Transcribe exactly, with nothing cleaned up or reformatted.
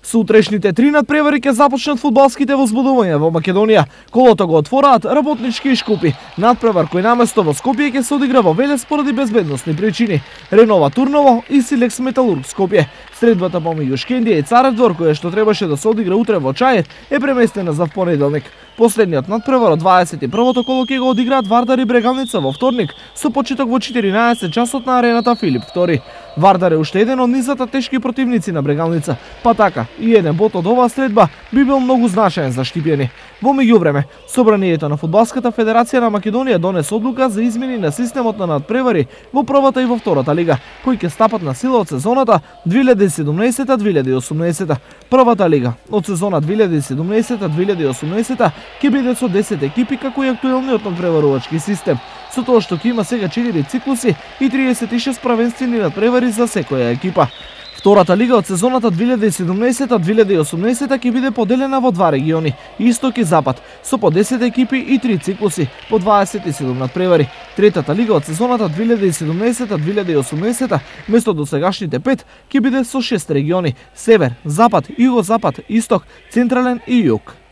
Со утрешните три надпревари ќе започнат фудбалските возбудувања во Македонија. Колото го отвораат работнички и Шкупи. Надпревар кој наместо во Скопје ќе се одигра во Велес поради безбедносни причини. Ренова Турново и Силекс Металург Скопје. Средбата помеѓу Шкендија и Царев двор, која што требаше да се одигра утре во Чајет, е преместена за понеделник. Последниот надпревар од дваесет и првото коло ќе го одиграат Вардар и Брегалница во вторник со почеток во четиринаесет часот на арената Филип втори. Вардар е уште еден од низата тешки противници на Брегалница, па така и еден бот од оваа средба би бил многу значаен за Штипјани. Во меѓувреме, Собранието на Фудбалската федерација на Македонија донесе одлука за измени на системот на надпревари во првата и во втората лига, кои ќе стапат на сила од сезоната две илјади и седумнаесета две илјади и осумнаесета. Првата лига од сезона две илјади и седумнаесета две илјади и осумнаесета ќе биде со десет екипи како и актуелниот надпреварувачки систем, со тоа што ќе има сега четири циклуси и триесет и шест правенствени надпревари за секоја екипа. Втората лига од сезоната две илјади и седумнаесета две илјади и осумнаесета ќе биде поделена во два региони, Исток и Запад, со по десет екипи и три циклуси, по дваесет и седум надпревари. Третата лига од сезоната две илјади и седумнаесета две илјади и осумнаесета, место досегашните пет, ќе биде со шест региони: Север, Запад, Југозапад, Исток, Централен и Југ.